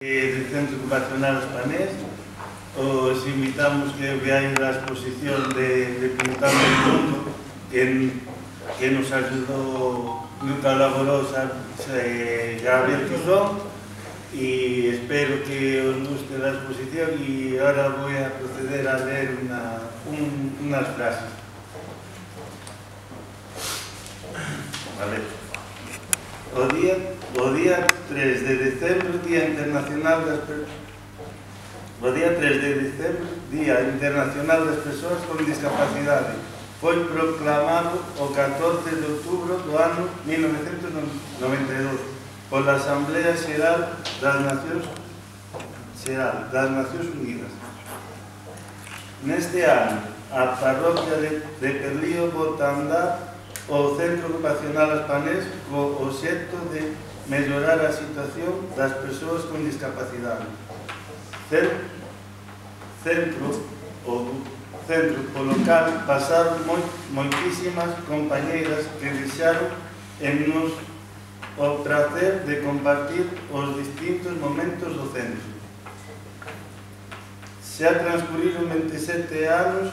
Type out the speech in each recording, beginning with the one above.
del Centro Ocupacional Espanés. Os invitamos que veáis la exposición de Pintando el Mundo que nos ayudó, nos colaboró Gabriel Tuzón, y espero que os guste la exposición. Y ahora voy a proceder a leer unas frases. Vale. O día 3 de decembro, Día Internacional das Persoas con Discapacidade, foi proclamado o 14 de outubro do ano 1992 pola Asamblea Xeral das Nacións Unidas. Neste ano, a parroquia de Perlío bota a andar o Centro Ocupacional Espanés co obxecto de mellorar a situación das persoas con discapacidade. Centro polo cal pasaron moitísimas compañeiras que deixaron en nos o prazer de compartir os distintos momentos do centro. Xa transcurriron 27 anos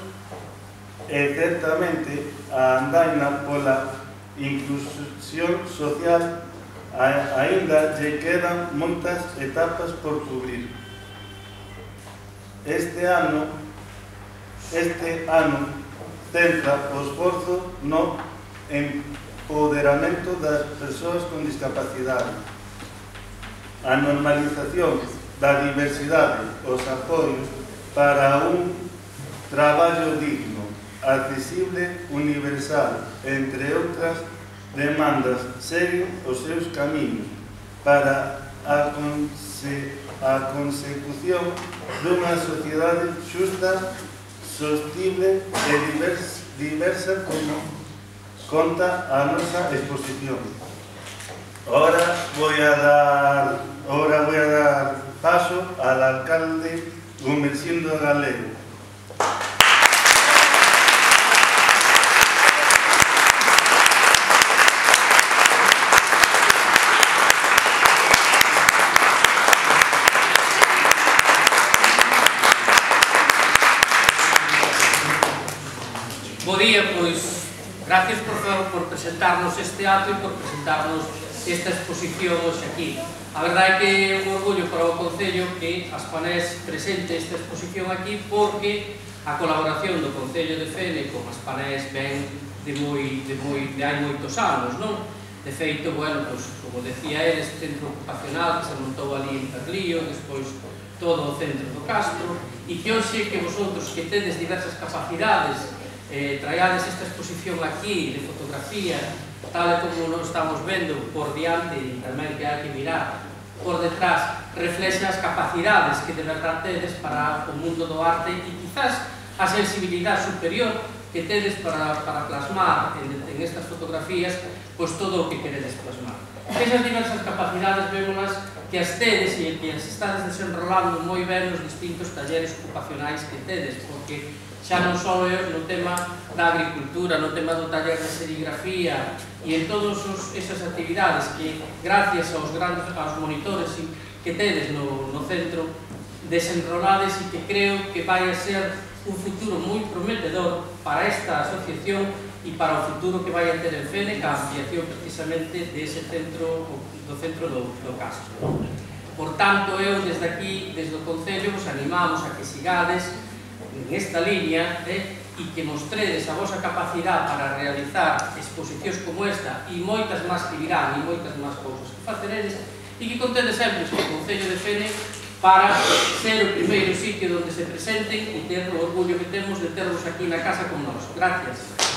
e certamente a andaina pola inclusión social aínda lle quedan moitas etapas por cubrir. Este ano centra o esforzo no empoderamento das persoas con discapacidade, a normalización da diversidade, os apoios para un traballo digno, accesible, universal, entre outras demandas, seguen os seus camiños para a consecución dunha sociedade xusta, sostible e diversa, como conta a nosa exposición. Ahora voy a dar paso al alcalde Gumersindo Galego. Bo día, pois, gracias por presentarnos este acto e por presentarnos esta exposición hoxe aquí. A verdade é que é un orgullo para o Concello que Aspanés presente esta exposición aquí, porque a colaboración do Concello de Fene con Aspanés ven de hai moitos anos, non? De feito, bueno, pois, como decía el, este centro ocupacional que se montou ali en Perlío, despois todo o centro do Castro, e que hoxe que vosotros que tedes diversas capacidades traíades esta exposición aquí de fotografía, tal como nos estamos vendo por diante, e tamén que hai que mirar por detrás, reflexa as capacidades que de verdade tedes para o mundo do arte e quizás a sensibilidade superior que tedes para plasmar en estas fotografías pois todo o que queredes plasmar. Esas diversas capacidades vémolas que as tedes e que as estades desenrolando moi ben nos distintos talleres ocupacionais que tedes, porque xa non só no tema da agricultura, no tema do taller de serigrafía e en todas esas actividades que, gracias aos monitores que tedes no centro, desenrolades e que creo que vai a ser un futuro moi prometedor para esta asociación e para o futuro que vai a ter en Fene, ca ampliación precisamente dese centro, do centro do Castro. Por tanto, eu desde aquí, desde o Concello, vos animamos a que sigades en esta línea e que mostredes a vosa capacidade para realizar exposicións como esta e moitas máis que virán e moitas máis cousas que faceredes, e que contedes sempre este Concello de Fene para ser o primeiro sitio onde se presenten e ter o orgullo que temos de tervos aquí na casa con nós. Gracias.